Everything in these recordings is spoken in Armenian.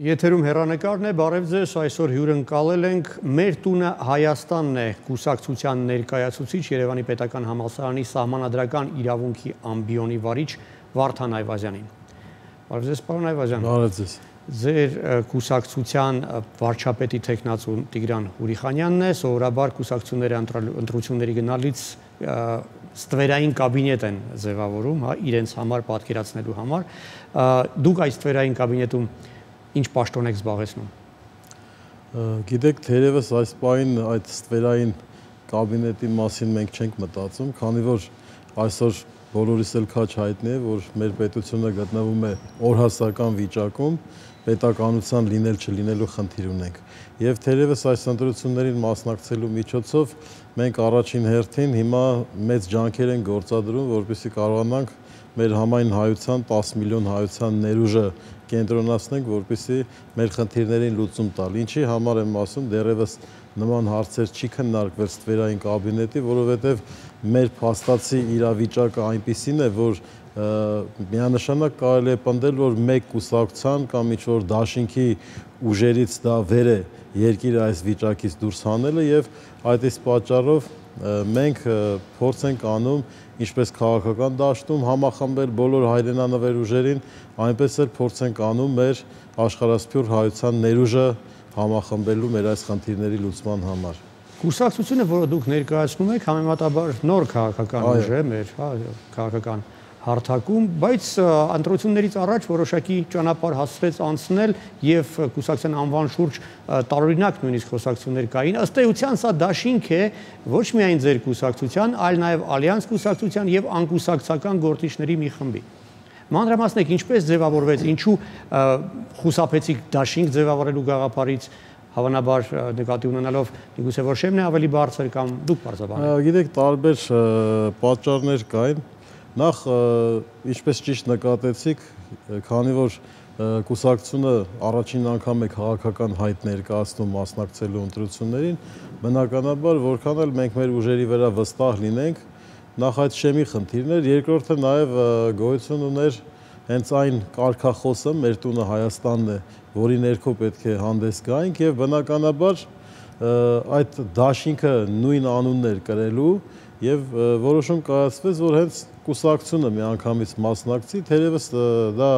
Եթերում հեռանկարն է, բարև ձեզ, այսօր հյուրընկալել ենք «Մեր տունը Հայաստանն է» կուսակցության ներկայացուցիչ Երևանի պետական համալսարանի սահմանադրական իրավունքի ամբիոնի վարիչ Վարդան Այվազյանին։ Բարև ձեզ, պարոն Այվազյան։ Բարև ձեզ։ Ձեր կուսակցության վարչապետի թեկնածու Տիգրան Հուրիխանյանն է, սովորաբար կուսակցությունների ընտրությունների գնալից ստվերային կաբինետ են ձևավորում, իրենց համար պատկերացնելու համար։ Դուք այս ստվերային կաբինետում ինչ պաշտոն եք զբաղեցնում։ Գիտեք, թերևս այս պահին այդ ստվերային կաբինետի մասին մենք չենք մտածում, քանի որ այսօր բոլորիս էլ քաջ հայտնի է, որ մեր պետությունը գտնվում է օրհասական վիճակում, պետականության լինել չլինելու խնդիր ունենք։ Եվ թերևս այս ընտրություններին մասնակցելու միջոցով մենք առաջին հերթին հիմա մեծ ջանքեր ենք գործադրում, որպեսզի կարողանանք մեր համայն հայության 10 միլիոն հայության ներուժը կենտրոնացնենք, որպեսզի մեր խնդիրներին լուծում տալ։ Ինչի համար եմ ասում, դեռևս նման հարցեր չի քննարկվել ստվերային կաբինետի, որովհետև մեր փաստացի իրավիճակը այնպիսին է, որ միանշանակ կարելի է պնդել, որ մեկ կուսակցության կամ ինչ-որ դաշինքի ուժերից դա վեր է երկիրը այս վիճակից դուրս հանելը եւ այդ իսկ պատճառով մենք փորձ ենք անում ինչպես քաղաքական դաշտում համախմբել բոլոր հայրենանվեր ուժերին, այնպես էլ փորձ ենք անում մեր աշխարհասփյուռ հայության ներուժը համախմբելու մեր այս խնդիրների լուծման համար։ Կուսակցությունը, որը դուք ներկայացնում եք, համեմատաբար նոր քաղաքական ուժ է մեր, քաղաքական հարթակում, բայց ընտրություններից առաջ որոշակի ճանապարհ հասցրեց անցնել եւ կուսակցության անվան շուրջ տարօրինակ նույնիսկ խոսակցություններ կային։ Ըստ էության սա դաշինք է ոչ միայն ձեր կուսակցության, այլ նաեւ Ալյանս կուսակցության եւ անկուսակցական գործիչների մի խմբի։ Մանրամասնեք ինչպես ձևավորվեց, ինչու խուսափեցիք դաշինք ձևավորելու գաղափարից, հավանաբար նկատի ունենալով միգուցե որ շեմն է ավելի բարձր կամ դուք բարձրաբանեք։ Գիտեք, տարբեր պատճառներ կային։ Նախ, ինչպես ճիշտ նկատեցիք, քանի որ կուսակցությունը առաջին անգամ է քաղաքական հայտ ներկայացնում մասնակցելու ընտրություններին, բնականաբար որքան էլ մենք մեր ուժերի վրա վստահ լինենք, նախ այդ շեմի խնդիրն էր, երկրորդը նաև գոյություն ուներ հենց այն կարգախոսը մեր տունը Հայաստանն է, որի ներքո պետք է հանդես գայինք եւ բնականաբար այդ դաշինքը նույն անունն էր կրելու եւ որոշում կայացվեց, որ հենց կուսակցությունը միանգամից մասնակցի, թերևս դա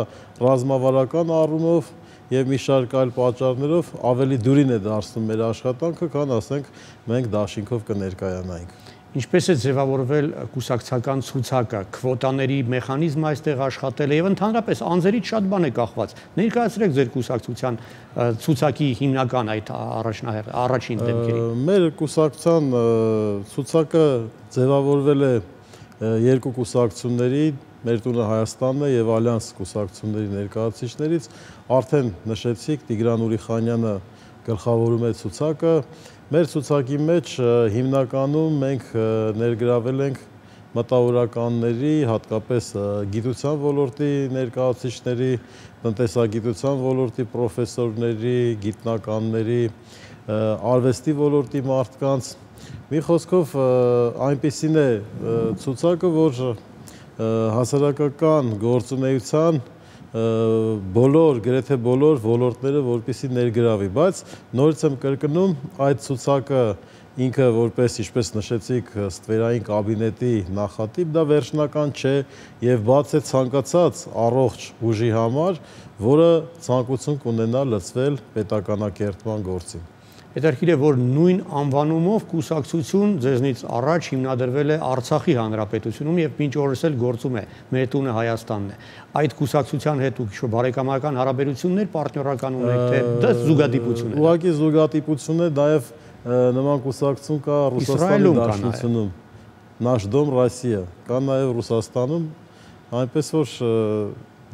ռազմավարական առումով եւ մի շարք այլ պատճառներով ավելի դյուրին է դարձնում մեր աշխատանքը, քան ասենք մենք դաշինքով կներկայանայինք։ Ինչպես է ձևավորվել կուսակցական ցուցակը, քվոտաների մեխանիզմը այստեղ աշխատել է եւ ընդհանրապես անձերից շատ բան է կախված։ Ներկայացրեք ձեր կուսակցության ցուցակի հիմնական այդ առաջին դեմքերի։ Մեր կուսակցության ցուցակը ձևավորվել է երկու կուսակցությունների, մեր տունը Հայաստանն է եւ Ալյանս կուսակցությունների ներկայացուցիչներից, արդեն նշեցիք, Տիգրան Հուրիխանյանը գլխավորում է ցուցակը։ Մեր ցուցակի մեջ հիմնականում մենք ներգրավել ենք մտավորականների, հատկապես գիտության ոլորտի ներկայացուցիչների, տնտեսագիտության ոլորտի պրոֆեսորների, գիտնականների, արվեստի ոլորտի մարդկանց։ Մի խոսքով այնպիսին է ցուցակը, որ հասարակական գործունեության բոլոր, գրեթե բոլոր ոլորտները որպեսզի ներգրավի, բայց նորից եմ կրկնում, այդ ցուցակը ինքը որպես, ինչպես նշեցիք, ստվերային կաբինետի նախատիպ, դա վերջնական չէ եւ բաց է ցանկացած առողջ ուժի համար, որը ցանկություն կունենա լծվել պետականակերտման գործին։ Հետաքրքիր է, որ նույն անվանումով կուսակցություն ձեզնից առաջ հիմնադրվել է Արցախի հանրապետությունում եւ մինչ օրս էլ գործում է Մեր տունը Հայաստանն է։ Այդ կուսակցության հետ դուք ինչ-որ բարեկամական հարաբերություններ, պարտներական ունեք, թե դա զուգադիպություն է։ Ուղղակի զուգադիպություն է, նաեւ նման կուսակցություն կա Ռուսաստանի Դաշնությունում, Նаш Դոմ Ռոսիա, կա նաեւ Ռուսաստանում, այնպես որ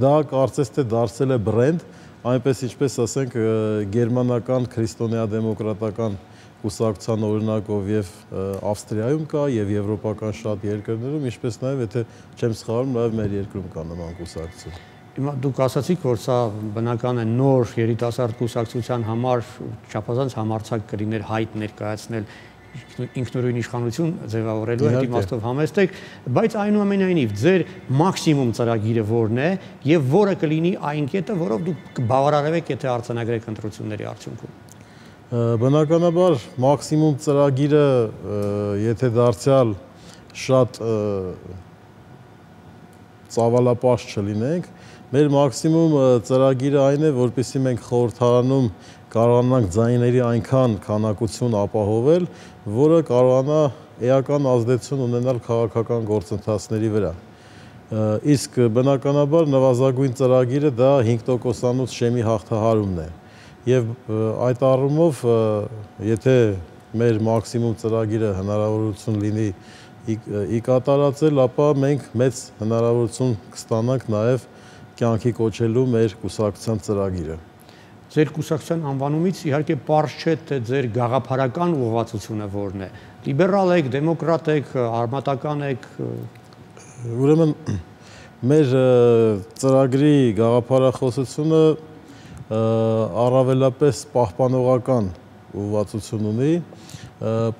դա կարծես թե դարձել է բրենդ, այնպես ինչպես ասենք գերմանական քրիստոնեա-դեմոկրատական կուսակցության օրինակով եւ Ավստրիայում կա եւ եվրոպական շատ երկրներում, ինչպես նաեւ եթե չեմ սխալվում, նաեւ մեր երկրում կա նման կուսակցություն։ Հիմա դուք ասացիք, որ սա բնական է նոր երիտասարդ կուսակցության համար չափազանց համարձակ կլիներ հայտ ներկայացնել։ ինքնուրույն իշխանություն ձևավորելու այդ իմաստով համեստ եք, բայց այնուամենայնիվ ձեր մաքսիմում ծրագիրը որն է եւ որը կլինի այն կետը, որով դուք կբավարարեք, եթե արձանագրեք ընտրությունների արդյունքում։ Բնականաբար մաքսիմում ծրագիրը, եթե դարձյալ շատ ծավալապաշտ չլինենք, մեր մաքսիմում ծրագիրը այն է, որպեսզի մենք խորհրդարանում կարողանանք ձայների այնքան քանակություն ապահովել, որը կարողանա էական ազդեցություն ունենալ քաղաքական գործընթացների վրա։ Իսկ բնականաբար նվազագույն ծրագիրը դա 5%-անոց շեմի հաղթահարումն է։ Եվ այդ առումով, եթե մեր մաքսիմում ծրագիրը հնարավորություն լինի ի կատարածել, ապա մենք մեծ հնարավորություն կստանանք նաև կյանքի կոչելու մեր կուսակցության ծրագիրը։ Ձեր կուսակցության անվանումից իհարկե պարզ չէ, թե ձեր գաղափարական ուղղվածությունը որն է։ Լիբերալ եք, դեմոկրատ եք, արմատական եք։ Ուրեմն մեր ծրագրի գաղափարախոսությունը առավելապես պահպանողական ուղղվածություն ունի,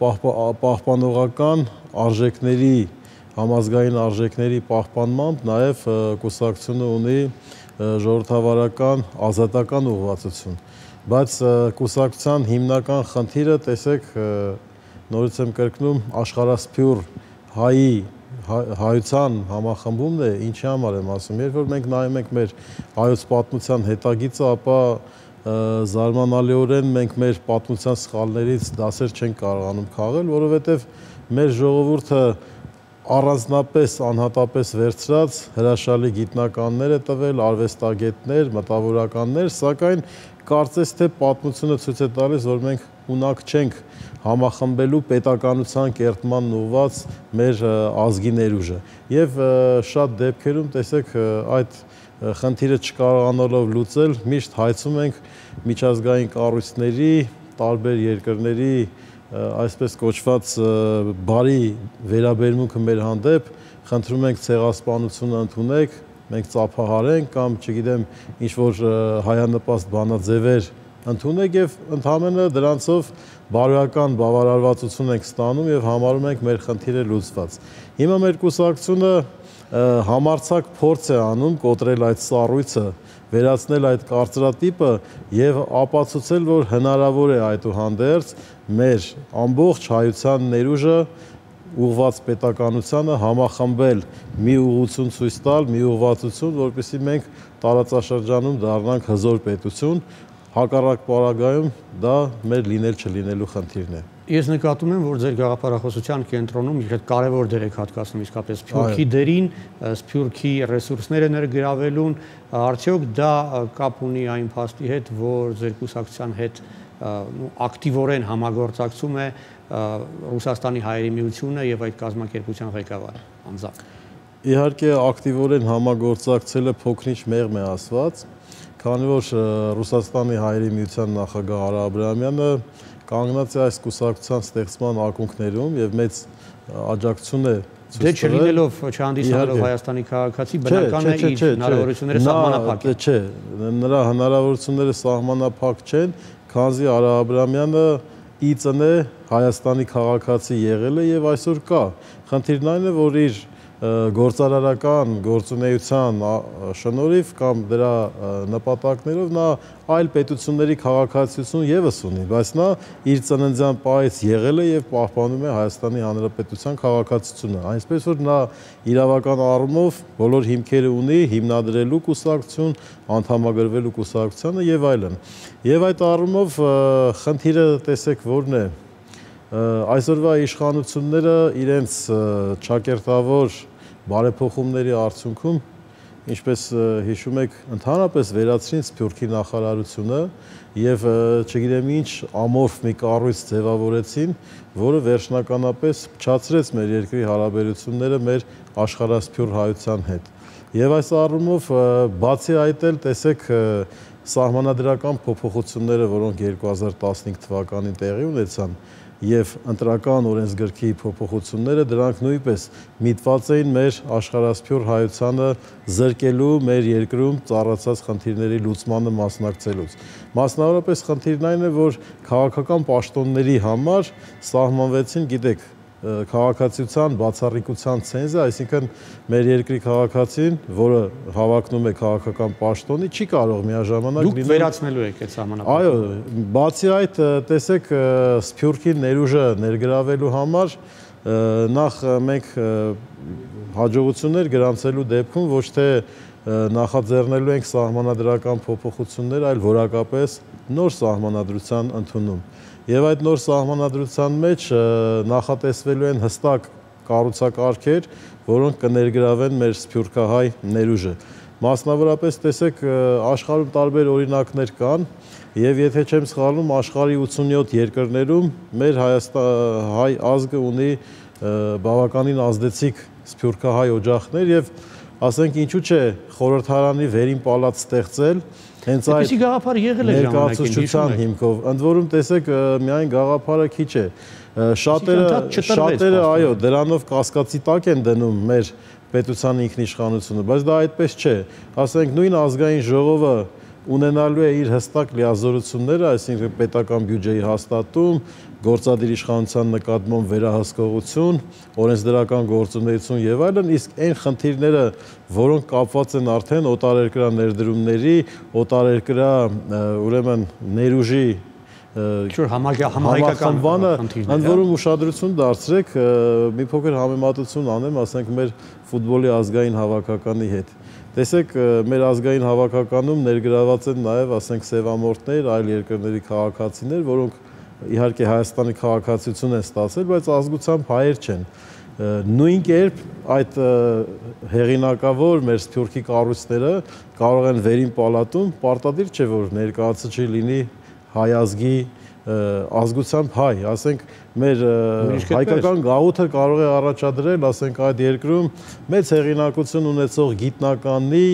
պահպանողական արժեքների, համազգային արժեքների պահպանմամբ նաև կուսակցությունը ունի ժողովրդավարական ազատական ուղղվածություն, բայց կուսակցության հիմնական խնդիրը, տեսեք, նորից եմ կրկնում, աշխարհասփյուռ հայության համախմբումն է, ինչի համար եմ ասում, երբ որ մենք նայում ենք մեր հայոց պատմության հետագիծը, ապա զարմանալիորեն մենք մեր պատմության սխալներից դասեր չենք կարողանում քաղել, որովհետև մեր ժողովուրդը առանձնապես անհատապես վերցրած հրաշալի գիտնականներ է տվել, արվեստագետներ, մտավորականներ, սակայն կարծես թե պատմությունը ցույց է տալիս, որ մենք ունակ չենք համախմբելու պետականության կերտման ուղղված մեր ազգի ներուժը։ Եվ շատ դեպքերում, տեսեք, այդ խնդիրը չկարողանալով լուծել, միշտ հայցում ենք միջազգային կառույցների, տարբեր երկրների այսպես կոչված բարի վերաբերմունքը մեր հանդեպ, խնդրում ենք ցեղասպանությունը ընդունեք, մենք ծափահարենք կամ չգիտեմ ինչ-որ հայանպաստ բանաձևեր ընդունեք եւ ընդհանրապես դրանցով բարոյական բավարարվածություն ենք ստանում եւ համարում ենք մեր խնդիրը լուծված։ Հիմա մեր կուսակցությունը համարձակ փորձ է անում կոտրել այդ սառույցը, վերացնել այդ կարծրատիպը եւ ապացուցել, որ հնարավոր է այդուհանդերձ մեր ամբողջ հայության ներուժը ուղղված պետականությանը համախմբել, մի ուղղություն ցույց տալ, մի ուղղվածություն, որպեսզի մենք տարածաշրջանում դառնանք հզոր պետություն, հակառակ պարագայում դա մեր լինել չլինելու խնդիրն է։ Ես նկատում եմ, որ ձեր գաղափարախոսության կենտրոնում իհարկե կարևոր դեր եք հատկացնում իսկապես Սփյուռքի դերին, Սփյուռքի ռեսուրսները ներգրավելուն, արդյոք դա կապ ունի այն փաստի հետ, որ ձեր կուսակցության հետ ակտիվորեն համագործակցում է Ռուսաստանի Հայերի Միությունը եւ այդ կազմակերպության ղեկավարը անձամբ։ Իհարկե ակտիվորեն համագործակցելը փոքրինչ մեղմ է ասված, քանի որ Ռուսաստանի Հայերի Միության նախագահ Արա Աբրահամյանը կանգնած է այս կուսակցության ստեղծման ակունքներում եւ մեծ աջակցություն է Դե չլինելով չհանդիսանալով Հայաստանի քաղաքացի, բնական է իր հնարավորությունները սահմանափակ են։ Չէ, նրա հնարավորությունները սահմանափակ չեն, քանզի Արա Աբրահամյանը իծն է Հայաստանի քաղաքացի եղել է եւ այսօր կա։ Խնդիրն այն է, որ իր գործարարական գործունեության շնորհիվ կամ դրա նպատակներով նա այլ պետությունների քաղաքացիություն եւս ունի, բայց նա իր ծննդյան պահից եղել է եւ պահպանում է Հայաստանի Հանրապետության քաղաքացիությունը, այնպես որ նա իրավական առումով բոլոր հիմքերը ունի հիմնադրելու կուսակցություն, անդամագրվելու կուսակցությանը եւ այլն։ Եվ այդ առումով խնդիրը տեսեք որն է, այսօրվա իշխանությունները իրենց չակերտավոր բարեփոխումների արդյունքում, ինչպես հիշում եք, ընդհանրապես վերացրին Սփյուռքի նախարարությունը եւ չգիտեմ ինչ ամորֆ մի կառույց ձևավորեցին, որը վերջնականապես փչացրեց մեր երկրի հարաբերությունները մեր աշխարհասփյուռ հայության հետ։ Եվ այս առումով բացի այդ էլ տեսեք սահմանադրական փոփոխությունները, որոնք 2015 թվականին տեղի ունեցան, եւ ընտրական օրենսգրքի փոփոխությունները դրանք նույնպես միտված էին մեր աշխարհասփյուր հայությանը զրկելու մեր երկրում ծառացած խնդիրների լուծմանը մասնակցելուց։ Մասնավորապես խնդիրն այն է, որ քաղաքական պաշտոնների համար սահմանվեցին, գիտեք, քաղաքացիության բացառիկության ցենզը, այսինքն մեր երկրի քաղաքացին, որը հավակնում է քաղաքական պաշտոնի, չի կարող միաժամանակ դուք վերացնելու եք այդ սահմանափակումը։ Այո, բացի այդ, տեսեք, Սփյուռքի ներուժը ներգրավելու համար նախ մենք հաջողություններ գրանցելու դեպքում ոչ թե նախաձեռնելու ենք սահմանադրական փոփոխություններ, այլ որակապես նոր սահմանադրության ընդունում։ Եվ այդ նոր սահմանադրության մեջ նախատեսվելու են հստակ կառուցակարգեր, որոնք կներգրավեն մեր սփյուռքահայ ներուժը։ Մասնավորապես տեսեք, աշխարհում տարբեր օրինակներ կան, եւ եթե չեմ սխալվում, աշխարհի 87 երկրներում մեր հայ ազգը ունի բավականին ազդեցիկ սփյուռքահայ օջախներ եւ ասենք ինչու՞ չէ խորհրդարանի վերին պալատ ստեղծել հենց այդ գաղափար եղել է ներկայացուցչության հիմքով։ Ընդ որում տեսեք, միայն գաղափարը քիչ է։ Շատերը, այո, դրանով կասկածի տակ են դնում մեր պետության ինքնիշխանությունը, բայց դա այդպես չէ։ Ասենք նույն ազգային ժողովը ունենալու է իր հստակ լիազորությունները, այսինքն պետական բյուջեի հաստատում, գործադիր իշխանության նկատմամբ վերահսկողություն, օրենսդրական գործունեություն եւ այլն, իսկ այն խնդիրները, որոնք կապված են արդեն օտարերկրյա ներդրումների, օտարերկրյա ուրեմն ներուժի համահայկական խնդիրները, ընդ որում ուշադրություն դարձրեք, մի փոքր համեմատություն անեմ, ասենք մեր ֆուտբոլի ազգային հավաքականի հետ։ Տեսեք, մեր ազգային հավաքականում ներգրաված են նաև, ասենք, սևամորթներ, այլ երկրների քաղաքացիներ, որոնք իհարկե Հայաստանի քաղաքացիություն են ստացել, բայց ազգությամբ հայեր չեն։ Նույն կերպ այդ հեղինակավոր մեր սփյուռքի կառույցները կարող են վերին պալատում պարտադիր չէ, որ ներկայացուցիչ լինի հայ ազգի ազգությամբ հայ, ասենք մեր հայկական գաղութը կարող է առաջադրել, ասենք այդ երկրում մեծ հեղինակություն ունեցող գիտնականի,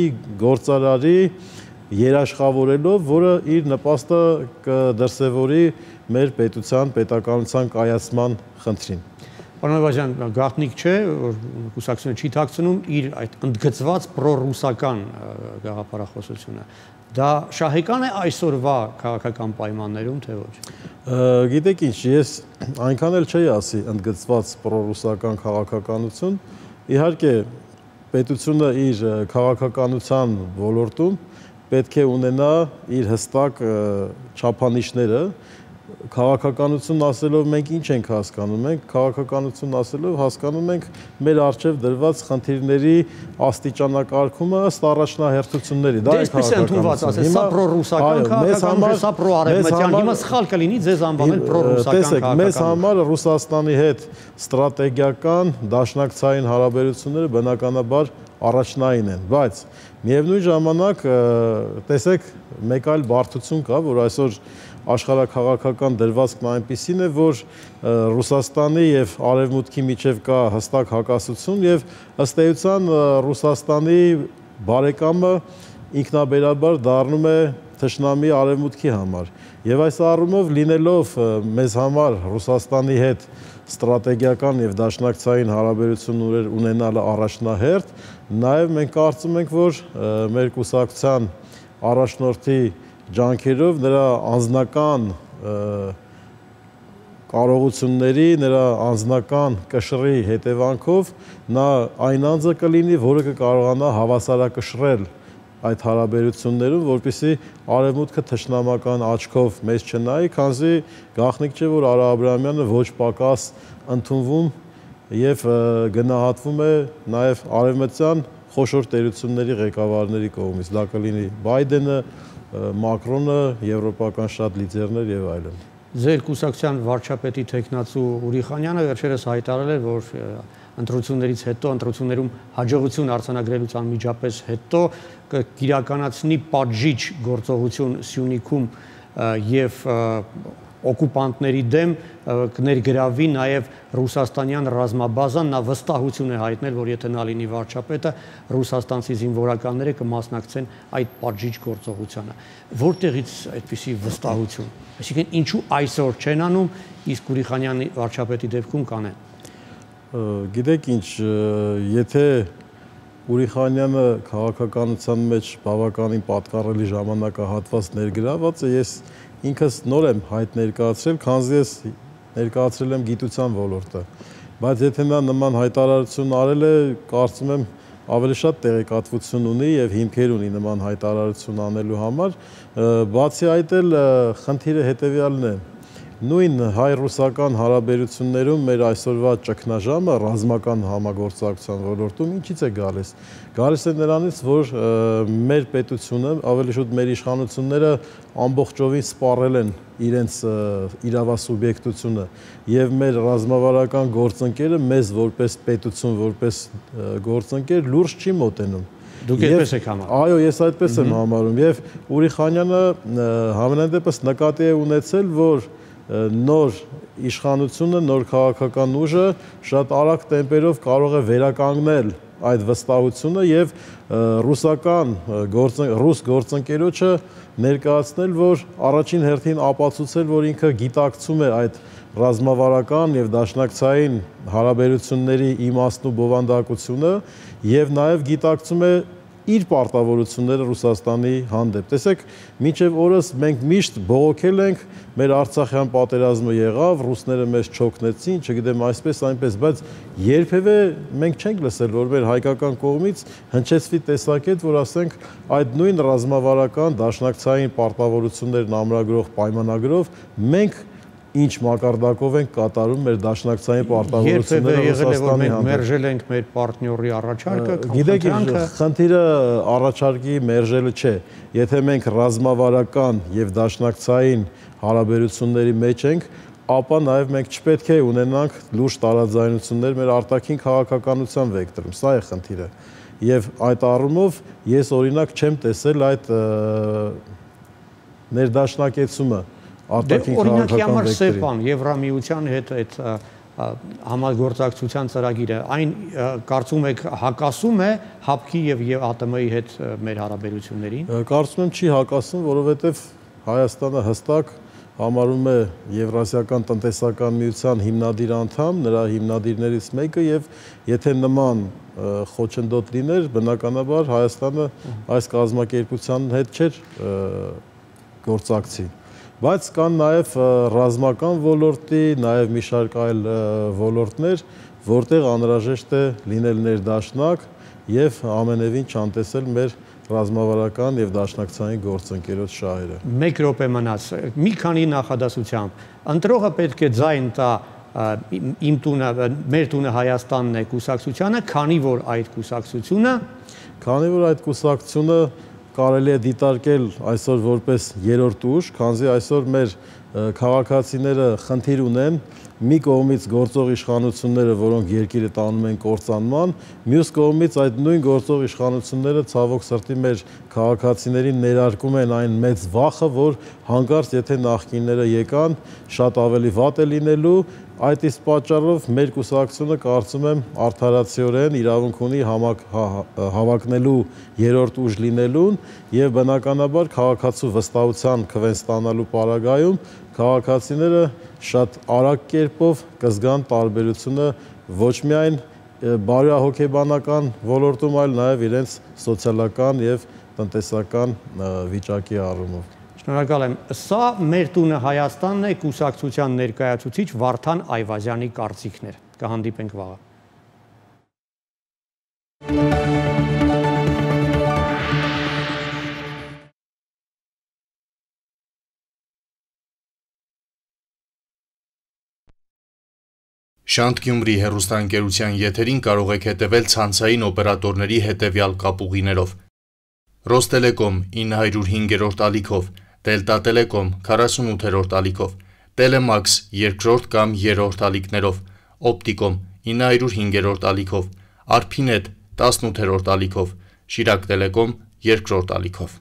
գործարարի երաշխավորելով, որը իր նպաստը կդրսևորի մեր պետության, պետականության կայացման խնդրին։ Պարոն Նավազյան, գաղտնիք չէ, որ կուսակցությունը չի թաքցնում իր այդ ընդգծված պրոռուսական գաղափարախոսությունը։ Դա շահեկան է այսօրվա քաղաքական պայմաններում, թե ոչ։ Գիտեք ինչ, ես այնքան էլ չէի ասի ընդգծված պրոռուսական քաղաքականություն, իհարկե պետությունը իր քաղաքականության ոլորտում պետք է ունենա իր հստակ չափանիշները։ Քաղաքականություն ասելով մենք ինչ ենք հասկանում, մենք քաղաքականություն ասելով հասկանում ենք մեր առջև դրված խնդիրների աստիճանակարգումը ըստ առաջնահերթությունների, դա է քաղաքականությունը։ Սա պրոռուսական քաղաքականություն է, սա պրոարևմտյան, հիմա սխալ կլինի ձեզ անվանել պրոռուսական քաղաքականություն։ Տեսեք, մեզ համար Ռուսաստանի հետ ստրատեգիական դաշնակցային հարաբերությունները բնականաբար առաջնային են, բայց միևնույն ժամանակ տեսեք, մեկ այլ բարդություն կա, որ այսօր աշխարհաքաղաքական դրվածքն այնպիսին է, որ Ռուսաստանի եւ Արևմուտքի միջև կա հստակ հակասություն եւ ըստ էության Ռուսաստանի բարեկամը ինքնաբերաբար դառնում է թշնամի Արևմուտքի համար։ Եվ այս առումով լինելով մեզ համար Ռուսաստանի հետ ստրատեգիական եւ դաշնակցային հարաբերություններ ունենալը առաջնահերթ, նաեւ մենք կարծում ենք, որ մեր կուսակցության առաջնորդի ջանքերով նրա անձնական կարողությունների, նրա անձնական կշռի հետևանքով նա այն անձը կլինի, որը կկարողանա հավասարակշռել այդ հարաբերություններում, որպեսզի Արևմուտքը թշնամական աչքով մեզ չնայի, քանզի գաղտնիք չէ, որ Արա Աբրահամյանը ոչ պակաս ընդունվում եւ գնահատվում է նաեւ արևմտյան խոշոր տերությունների ղեկավարների կողմից, դա կլինի Բայդենը, Մակրոնը, եվրոպական շատ լիդերներ եւ այլն։ Ձեր կուսակցության վարչապետի տեխնացու Ուրիխանյանը վերջերս հայտարարել է, որ ընտրություններից հետո, ընտրություններում հաջողություն արձանագրելուց անմիջապես հետո կիրականացնի պատժիչ գործողություն Սյունիքում եւ օկուպանտների դեմ կներգրավվի նաև ռուսաստանյան ռազմաբազան, նա վստահություն է հայտնել, որ եթե նա լինի վարչապետը, ռուսաստանցի զինվորականները կմասնակցեն այդ պատժիչ գործողությանը։ Որտեղից այդպիսի վստահություն։ Այսինքն ինչու այսօր չեն անում, իսկ Ուրիխանյանի վարչապետի դեպքում կանեն։ Գիտեք ինչ, եթե Ուրիխանյանը քաղաքականության մեջ բավականին պատկառելի ժամանակահատված ներգրաված է, ես ինքս նոր եմ հայտ ներկայացրել, քանզի ես ներկայացրել եմ գիտության ոլորտը, բայց եթե նա նման հայտարարություն արել է, կարծում եմ ավելի շատ տեղեկատվություն ունի եւ հիմքեր ունի նման հայտարարություն անելու համար, բացի այդ էլ խնդիրը հետեւյալն է. նույն հայ-ռուսական հարաբերություններում մեր այսօրվա ճգնաժամը ռազմական համագործակցության ոլորտում ինչից է գալիս։ Գալիս է նրանից, որ մեր պետությունը, ավելի շուտ մեր իշխանությունները ամբողջովին սպառել են իրենց իրավասուբյեկտությունը եւ մեր ռազմավարական գործընկերը մեզ որպես պետություն, որպես գործընկեր լուրջ չի մոտենում։ Դուք այդպես եք համարում։ Այո, ես այդպես եմ համարում եւ Ուրիխանյանը համենայն դեպս նկատի է ունեցել, որ նոր իշխանությունը, նոր քաղաքական ուժը շատ արագ տեմպերով կարող է վերականգնել այդ վստահությունը եւ ռուս գործընկերոջը ներկայացնել, որ առաջին հերթին ապացուցել, որ ինքը գիտակցում է այդ ռազմավարական եւ դաշնակցային հարաբերությունների իմաստն ու բովանդակությունը եւ նաեւ գիտակցում է իր պարտավորությունները Ռուսաստանի հանդեպ։ Տեսեք, մինչև օրս մենք միշտ բողոքել ենք, մեր Արցախյան պատերազմը եղավ, ռուսները մեզ չօգնեցին, չգիտեմ այսպես, այնպես, բայց երբևէ մենք չենք լսել, որ մեր հայկական կողմից հնչեցվի տեսակետ, որ ասենք այդ նույն ռազմավարական դաշնակցային պարտավորություններն ամրագրող պայմանագրով մենք ինչ մակարդակով ենք կատարում մեր դաշնակցային պարտավորությունները Ռուսաստանի հանդեպ։ Մերժել ենք մեր պարտների առաջարկը, գիտեք, խնդիրը առաջարկի մերժելը չէ։ Եթե մենք ռազմավարական եւ դաշնակցային հարաբերությունների մեջ ենք, ապա նաեւ մենք չպետք է ունենանք լուրջ տարաձայնություններ մեր արտաքին քաղաքականության վեկտորում։ Սա է խնդիրը։ Եվ այդ առումով ես օրինակ չեմ տեսել այդ ներդաշնակեցումը Օրինակի համար ՍԵՊԱ-ն, Եվրամիության հետ այդ համագործակցության ծրագիրը, այն կարծում եք հակասում է ՀԱՊԿ-ի եւ ԱՏՄ-ի հետ մեր հարաբերություններին։ Կարծում եմ չի հակասում, որովհետեւ Հայաստանը հստակ համարում է Եվրասիական տնտեսական միության հիմնադիր անդամ, նրա հիմնադիրներից մեկը եւ եթե նման խոչընդոտ լիներ, բնականաբար Հայաստանը այս կազմակերպության հետ չէր գործակցի։ Բայց կան նաև ռազմական ոլորտի, նաև մի շարք այլ ոլորտներ, որտեղ անհրաժեշտ է լինել ներդաշնակ եւ ամենևին չանտեսել մեր ռազմավարական եւ դաշնակցային գործընկերոջ շահերը։ 1 րոպե մնաց։ Մի քանի նախադասությամբ ընտրողը պետք է ձայն տա իմ տունը, մեր տունը Հայաստանն է կուսակցությանը, քանի որ այդ կուսակցությունը կարելի է դիտարկել այսօր որպես երրորդ ուժ, քանզի այսօր մեր քաղաքացիները խնդիր ունեն մի կողմից գործող իշխանությունները, որոնք երկիրը տանում են կործանման, մյուս կողմից այդ նույն գործող իշխանությունները ցավոք սրտի մեր քաղաքացիներին ներարկում են այն մեծ վախը, որ հանկարծ եթե նախկինները եկան, շատ ավելի վատ է լինելու, այդ իսկ պատճառով մեր կուսակցությունը կարծում եմ արդարացիորեն իրավունք ունի հավակնելու երրորդ ուժ լինելուն եւ բնականաբար քաղաքացու վստահության քվեն ստանալու պարագայում քաղաքացիները շատ արագ կերպով կզգան տարբերությունը ոչ միայն բարոյահոգեբանական ոլորտում, այլ նաեւ իրենց սոցիալական եւ տնտեսական վիճակի առումով։ Շնորհակալ եմ։ Սա մեր տունը Հայաստանն է կուսակցության ներկայացուցիչ Վարդան Այվազյանի կարծիքներ։ Կհանդիպենք վաղը։ Շանթ Գյումրի հեռուստաընկերության եթերին կարող եք հետևել ցանցային օպերատորների հետևյալ կապուղիներով. Ռոստելեկոմ 905-րդ ալիքով, Դելտա Տելեկոմ 48-րդ ալիքով, Տելեմաքս 2-րդ կամ 3-րդ ալիքներով, Օպտիկոմ 905-րդ ալիքով, Արփինետ 18-րդ ալիքով, Շիրակ Տելեկոմ 2-րդ ալիքով։